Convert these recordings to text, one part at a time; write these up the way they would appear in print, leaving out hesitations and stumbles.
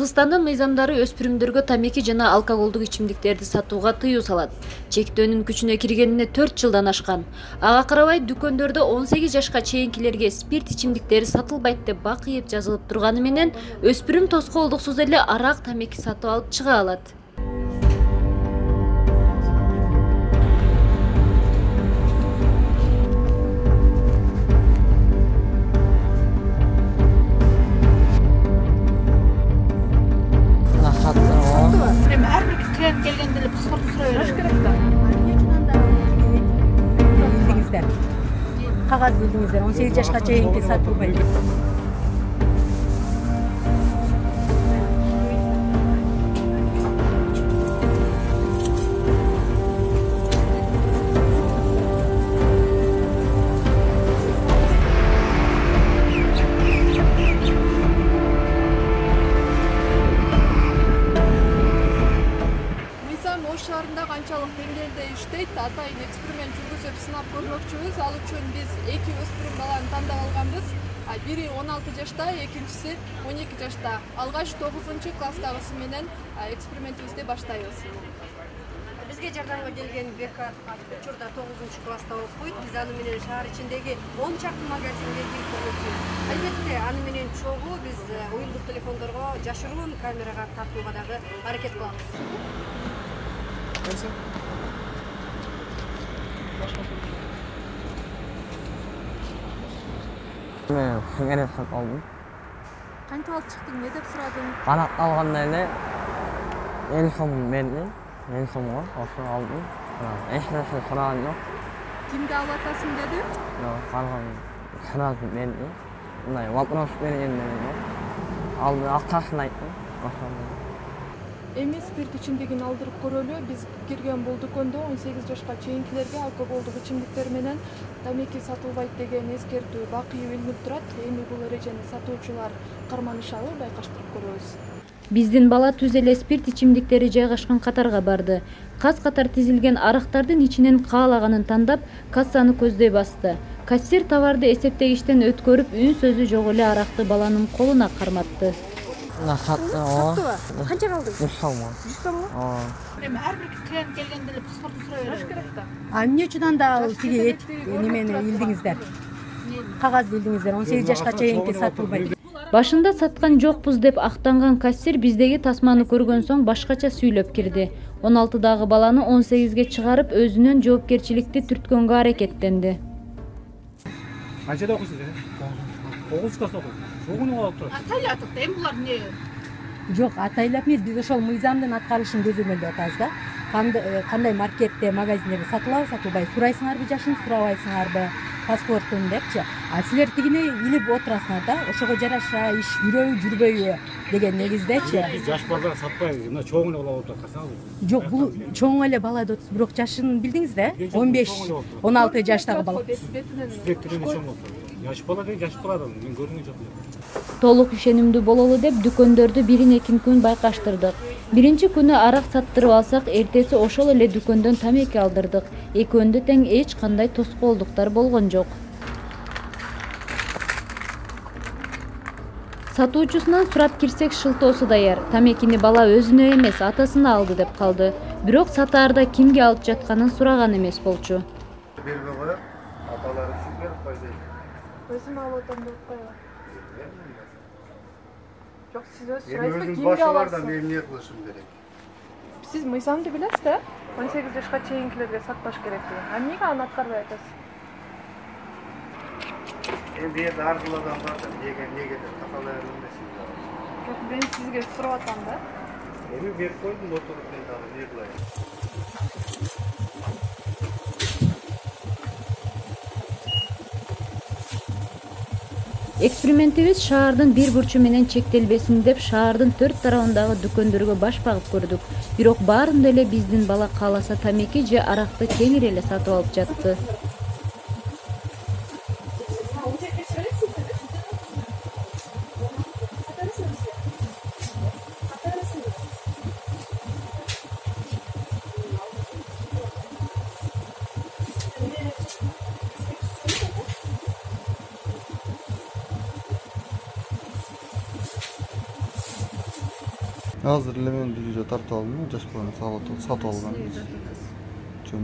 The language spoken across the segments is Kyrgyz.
Кыргызстандын мыйзамдары өспүрүмдөргө тамеки жана алкоголдук ичимдиктерди сатууга тыюу салат. Чектөөнүн күчүнө киргенине 4 жылдан ашкан. Ага карабай дүкөндөрдө 18 жашка чейинкилерге спирт ичимдиктери сатылбайт деп бакыйып жазылып турганы менен өспүрүм тоскоолдуксуз эле арак, тамеки сатып алып чыга алат. Келгенде эле паспорт сурай берет. Кагаз билдиңиздер, 18 жашка чейинки сатылбайт. Шаарында канчалык деңгээлде иштейт, атайын эксперимент жүргүзүп сынап көрмөкчүбүз. Ал үчүн биз 2 өспүрүм баланы тандап алганбыз. Бири 16 жашта, экинчиси 12 жашта. Алгач 9-класстагысы менен экспериментибизди баштайбыз. Бизге жардамга келген Бека учурда 9-класста окуйт. Биз аны менен шаар ичиндеги 10 чакты магазинге кирип көрмөкчүбүз. Албетте, аны менен чогуу биз уюлдук телефондорго жашыруун камерага тартууга дагы аракет кылабыз. Мен сигарет сатып алдым. Кантип алып чыктың, эмне деп сурадың? Канат алганда эле 50 сом берди. 50 сомго ошо алдым. Эч нерсе сураган жок. Кимге алып атасың деди? Жок, калган сразу берди. Мындай вопрос бергенде алды, акчасын айттым. Ошондой. Эми спирт ичимдигин алдырып көрөлү. Биз кирген бул дүкөндө 18 жашка чейинкилерге алкоголдук ичимдиктер менен тамеки сатылбайт деген эскертүү бакыйып илинип турат. Эми бул эрежени сатуучулар карманышабы, байкаштырып көрөбүз. Биздин бала түз эле спирт ичимдиктери жайгашкан катарга барды. Каз-катар тизилген арактардын ичинен каалаганын тандап, кассаны көздөй басты. Кассир товарды эсептегичтен өткөрүп, үн сөзү жок эле аракты баланын колуна карматты. Саттыбы? Канчага алдың? 100 сомго. 100 сомго? Эми ар бир клиент келгенде эле паспорт сурай берет да. Эмне үчүн анда тиги немени илдиңиздер? Кагаз билдиңиздер, 18 жашка чейинки сатылбайт. Башында саткан жокпуз деп актанган кассир биздеги тасманы көргөн соң башкача сүйлөп кирди. 16дагы баланы 18ге чыгарып, өзүнөн жоопкерчиликти түрткөнгө аракеттенди. Канчада окуйсуз? 9 класс окуйт. Чогуну алып турат. Атайлатып, эми булар эмне? Жок, атайлап эмес, биз ошол мыйзамдын аткарылышын көзөмөлдөп атабыз да. Кандай маркетте, магазиндерде сатылабы, сатылбайбы, сурайсыңарбы, жашын сурабайсыңарбы, паспортун депчи. Силер тигине илип отурасыңар да, ошого жараша иш жүрөбү, жүрбөйбү деген негиздечи. Биз жаш балдар сатпайбыз, мына чоң эле бала болуп аткансаңыз. Жок, бул чоң эле бала деп атасыз, бирок жашын билдиңиз да? 15-16 жаштагы бала. Бетинен чоң болот. Жаш бала деген жаш бала, мен көргөн жок. Толук ишенимдүү бололу деп дүкөндөрдү бирин-экин күн байкаштырдык. Биринчи күнү арак саттырып алсак, эртеси ошол эле дүкөндөн тамеки алдырдык. Экөөндө тең эч кандай тоскоолдуктар болгон жок. Сатуучусунан сурап кирсек, шылтоосу даяр. Тамекини бала өзүнө эмес, атасына алды деп калды. Бирок сатаарда кимге алып жатканын сураган эмес болчу. Бербей коёт, аталары үчүн берип койду. Өзүм алып атам деп койгон. Жок, сиз өз Эми сурайсызбы, өзүм кимге башылардан аласыз? мен эмне кылышым керек? Сиз мыйзамды билесиз да? 18 жашка чейинкилерге сатпаш керек деген. Эмнеге аны аткарбай атасыз? Эми бу аркылуу адамдар да неге деп такалай бермесин. Жок, мен сизге сурап атам да. Эми берип койдум, отуруп мен дагы эмне кылайын? Экспериментибиз шаардын бир бурчу менен чектелбесин деп шаардын 4 тарабындагы дүкөндөргө баш багып көрдүк. Бирок баарында эле биздин бала кааласа тамеки же аракты кеңири эле сатып алып жатты. Азыр эле мен бир үйдө тартып алдым, жаш баланы сатып алган.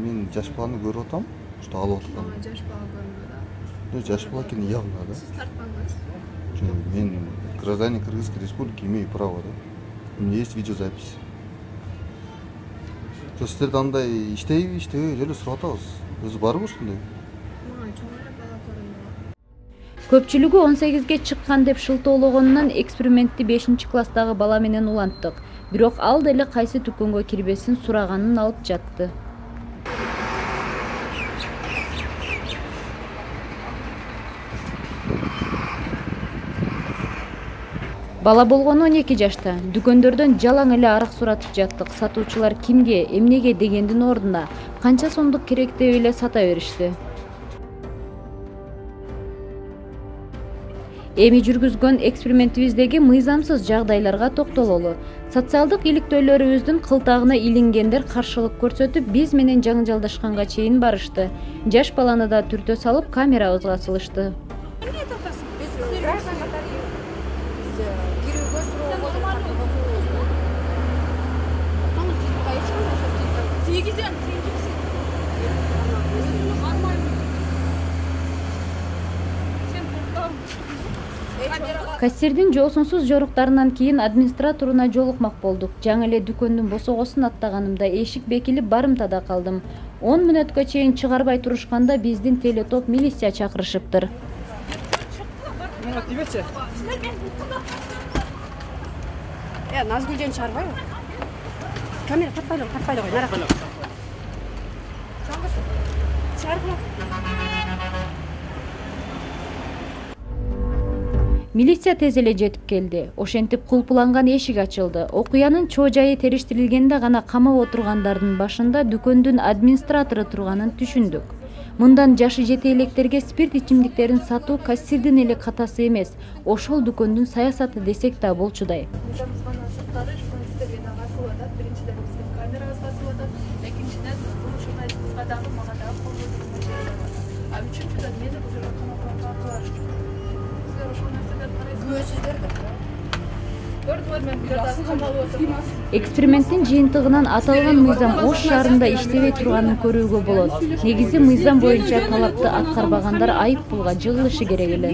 Мен жаш баланы көрүп атам, что алып аткан. Жаш бала көрүнбөдү. Жаш бала экени явно, да. Сиз тартпаңыз. Мен гражданин Кыргызской республики, имею право, да. У меня есть видеозапись. Сиздерде андай иштейби, иштебейби эле сурап атабыз. Өзү барбы ушундай? Мага чоң эле бала көрүнбөдү. Көпчүлүгү 18ге чыккан деп шылтоологонунан экспериментти 5-класстагы бала менен уланттык. Бирок ал деле кайсы дүкөнгө кирбесин сураганын алып жатты. Бала болгону 12 жашта. Дүкөндөрдөн жалаң эле арак суратып жаттык. Сатуучулар кимге, эмнеге дегендин ордуна канча сомдук керек деп эле сата беришти. Эми жүргүзгөн экспериментибиздеги мыйзамсыз жагдайларга токтололу. Социалдык иликтөөлөрүбүздүн кылтагына илингендер каршылык көрсөтүп, биз менен жаңжалдашканга чейин барышты. Жаш баланы да түртө салып камерабызга салышты. Кассирдин жоосунсуз жоруктарынан кийин администраторуна жолукмак болдук. Жаңы эле дүкөндүн босогосун аттаганымда эшик бекилип барымтада калдым. 10 мүнөткө чейин чыгарбай турушканда биздин телетоп милиция чакырышыптыр. Назгүлжөн чыгарбайбы? Камера тартпайлы кой, наракы. Чыгарбай. Милиция тез эле жетип келди. Ошентип кулпуланган эшик ачылды. Окуянын чоо жайы териштирилгенде гана камап отургандардын башында дүкөндүн администратору турганын түшүндүк. Мындан жашы жете электерге спирт ичимдиктерин сатуу кассирдин эле катасы эмес, ошол дүкөндүн саясаты десек да болчудай. Эксперименттин жыйынтыгынан аталган мыйзам Ош шаарында иштебей турганын көрүүгө болот. Негизи мыйзам боюнча талапты аткарбагандар айып пулга жыгылышы керек эле.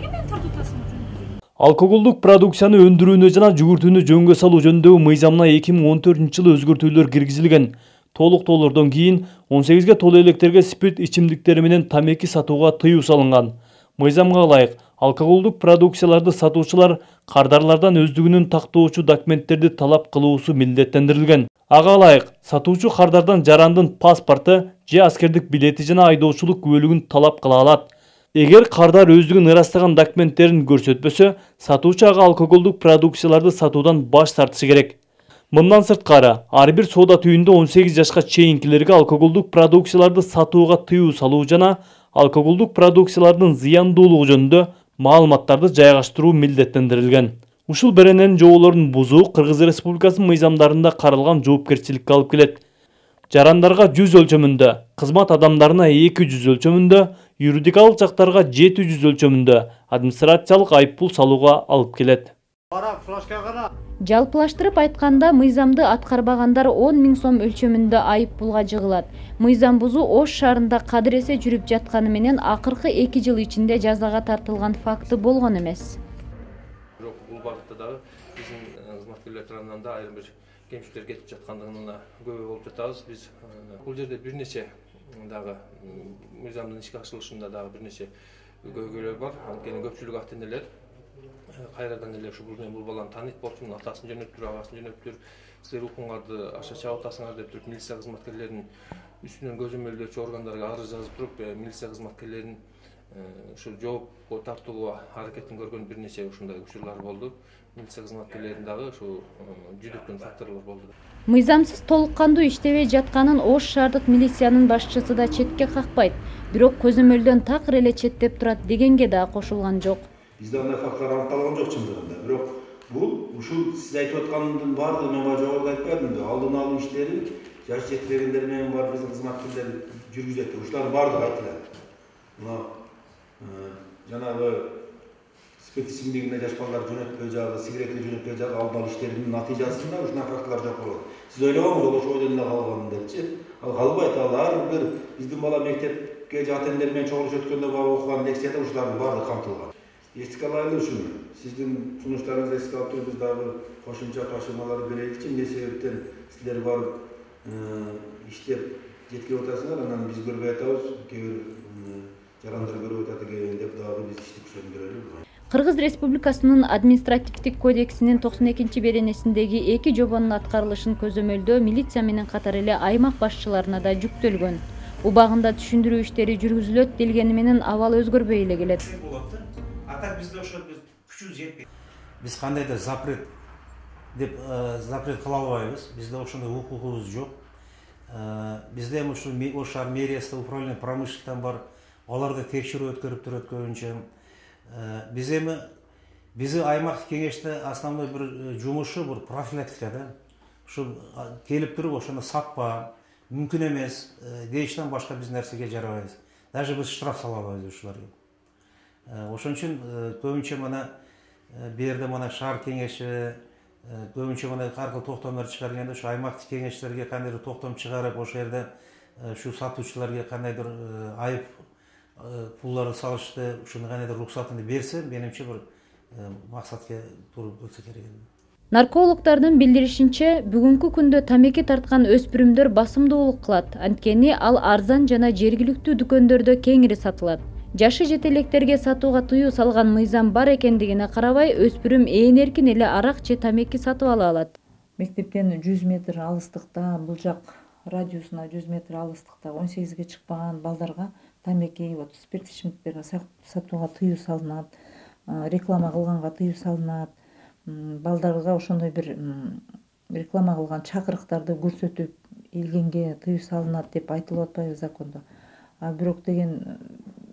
Алкоголдук продукцияны өндүрүүнү жана жүгүртүүнү жөнгө салуу жөнүндөгү мыйзамына 2014-жылы өзгөртүүлөр киргизилген. Толуктоолордон кийин 18ге толуу электерге спирт ичимдиктери менен тамеки сатууга тыюу салынган. Мыйзамга ылайык алкоголдук продукцияларды сатуучулар кардарлардан өздүгүнүн тактоочу документтерди талап кылуусу милдеттендирилген. Ага ылайык сатуучу кардардан жарандын паспорту же аскердик билети жана айдоочулук күбөлүгүн талап кыла алат. Эгер кардар өздүгүн ырастаган документтерин көрсөтпөсө, сатуучу ага алкоголдук продукцияларды сатуудан баш тартышы керек. Мындан сырткары, ар бир соода түйүндө 18 жашка чейинкилерге алкоголдук продукцияларды сатууга тыюу салуу жана алкоголдук продукциялардын зыяндуулугу жөнүндө маалыматтарды жайгаштыруу милдеттендирилген. Ушул берененин жоболорун бузуу Кыргыз Республикасынын мыйзамдарында каралган жоопкерчиликке алып келет. Жарандарга 100 өлчөмүндө, кызмат адамдарына 200 өлчөмүндө, юридикалык жактарга 700 өлчөмүндө администрациялык айыппул салууга алып келет. Жалпылаштырып айтканда, мыйзамды аткарбагандар 10 000 сом өлчөмүндө айыппулга жыгылат. Мыйзам бузуу Ош шаарында кадыр эсе жүрүп жатканы менен акыркы 2 жыл ичинде жазага тартылган факты болгон эмес. Бирок бул багытта дагы биздин кызматкерлер тарабынан да айрым бир кемчиликтер кетип жаткандыгына күбө болуп жатабыз. Биз бул жерде бир нече дагы мыйзамдын ишке ашырылышында дагы бир нече көйгөйлөр бар. Анткени көпчүлүк ата энелер кайрадан эле бул мен бул баланы тааныйт болчумун, атасын жөнөттүр, агасын жөнөттүр, силер укуңарды аша чабып атасыңар деп туруп милиция кызматкерлеринин үстүнөн көзөмөлдөөчү органдарга арыз жазып туруп, милиция кызматкерлерин ушул жоопко тартууга аракетин көргөн бир нече ушундай учурлар болду. Милиция кызматкерлерин дагы ушул жүдөткөн факторлор болду. Мыйзамсыз толук кандуу иштебей жатканын Ош шаардык милициянын башчысы да четке какпайт. Бирок көзөмөлдөн такыр эле четтеп турат дегенге да кошулган жок. Бизде андай факторлар аныкталган жок чындыгында. Бирок бул ушул сиз айтып аткандын баардыгы мен жогоруда айтпадымбы? Алдын алуу иштерин жаш жетпегендер менен бар биздин кызматкерлер жүргүзөт. Ушулардын баардыгы айтылат. Мына жанагы спирт ичимдигине жаш балдар жөнөтпөй жагы, сигаретке жөнөтпөй жагы алып иштеринин натыйжасында ушундай фактылар жок болот. Сиз ойлобоңуз, ол ошол ойдон эле калган депчи. Ал калбайт, ал ар бир биздин бала мектепке ата-энелер менен чогулуш өткөндө окуган лекцияда ушулардын баардыгы камтылган. Эске алайлы ушуну. Сиздин сунуштарыңызды эске алып туруп биз дагы кошумча ташыймалар береличи. Эмне себептен силер барып иштеп жеткирип атасыңар, анан биз көрбөй атабыз, кээ бир жарандар көрүп атат экен деп дагы биз ишти күчөндүрөлү. Кыргыз Республикасынын административдик кодексинин 92-беренесиндеги 2 жобонун аткарылышын көзөмөлдөө милиция менен катар эле аймак башчыларына да жүктөлгөн. Убагында түшүндүрүү иштери жүргүзүлөт делгени менен абал өзгөрбөй эле келет. А бизде ошол күчүбүз жетпейт. Биз кандайдыр запрет деп запрет кыла албайбыз. Бизде ошондой укугубуз жок. Бизде эми ушул Ош шаар мэриясында управление промышленностьтан бар, алар да текшерүү өткөрүп турат көбүнчө. Биз аймактык кеңеште основной бир жумушу бир профилактика да. Ушул келип туруп ошону сатпа, мүмкүн эмес дейиштен башка биз нерсеге жарабайбыз. Даже биз штраф сала албайбыз ушуларга. Ошон үчүн көбүнчө мына бу жерде мына шаар кеңеши көбүнчө мына ар кыл токтомдор чыгарганда ушу аймактык кеңештерге кандайдыр токтом чыгарып, ошол жерде ушу сатуучуларга кандайдыр айып пулларды салышты, ушуну кандайдыр уруксатын берсе, менимче бир максатка туура өтсө керек. Наркологдордун билдиришинче, бүгүнкү күндө тамеки тарткан өспүрүмдөр басымдуулук кылат, анткени ал арзан жана жергиликтүү дүкөндөрдө кеңири сатылат. Жашы жете электерге сатууга тыюу салган мыйзам бар экендигине карабай, өспүрүм ээн эркин эле арак же тамеки сатып ала алат. Мектептен 100 метр алыстыкта, бул жак радиусуна 100 метр алыстыкта 18ге чыкпаган балдарга тамеки, спирт ичимдиктерди сатууга тыюу салынат, реклама кылганга тыюу салынат. Балдарга ошондой бир реклама кылган чакырыктарды көрсөтүп илгенге тыюу салынат деп айтылып атпайбы закондо. А бирок деген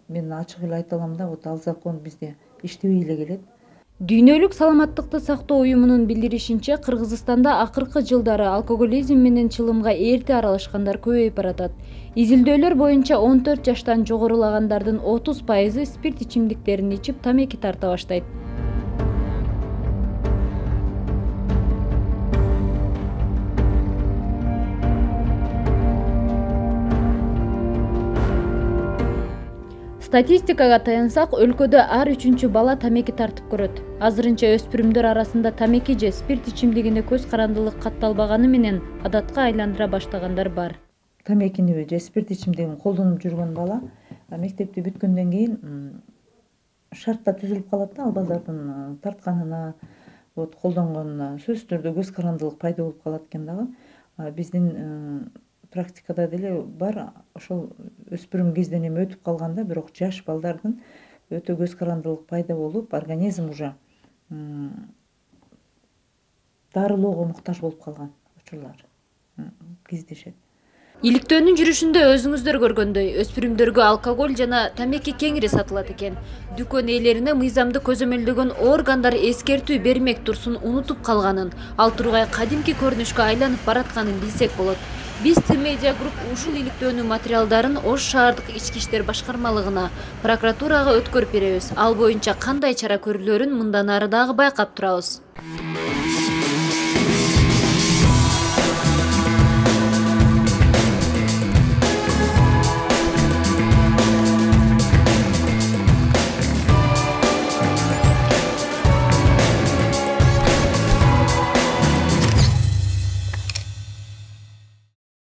мен ачык эле айта алам да, ал закон бизде иштебей эле келет. Дүйнөлүк саламаттыкты сактоо уюмунун билдиришинче, Кыргызстанда акыркы жылдары алкоголизм менен чылымга эрте аралашкандар көбөйүп баратат. Изилдөөлөр боюнча 14 жаштан жогорулагандардын 30% спирт ичимдиктерин ичип тамеки тарта баштайт. Статистикага таянсак, өлкөдө ар 3-чү бала тамеки тартып көрөт. Азырынча өспүрүмдөр арасында тамеки же спирт ичимдигине көз карандылык катталбаганы менен адатка айландыра баштагандар бар. Тамекини же спирт ичимдигин колдонуп жүргөн бала мектепти бүткөндөн кийин шартта түзүлүп калат да, ал балдардын тартканына, колдонгонуна сөзсүз түрдө көз карандылык пайда болуп калат экен дагы. Биздин практикада деле бар, ошол өспүрүм кезден эми өтүп калганда, бирок жаш балдардын өтө көз карандылык пайда болуп, организм уже дарылоого муктаж болуп калган учурлар кездешет. Иликтөөнүн жүрүшүндө өзүңүздөр көргөндөй, өспүрүмдөргө алкоголь жана тамеки кеңири сатылат экен. Дүкөн ээлерине мыйзамды көзөмөлдөгөн органдар эскертүү бермек турсун унутуп калганын, ал тургай кадимки көрүнүшкө айланып баратканын билсек болот. Биз Т-Медиа Групп ушул иликтөөнүн материалдарын Ош шаардык ички иштер башкармалыгына, прокуратурага өткөрүп беребиз. Ал боюнча кандай чара көрүлөрүн мындан ары дагы байкап турабыз.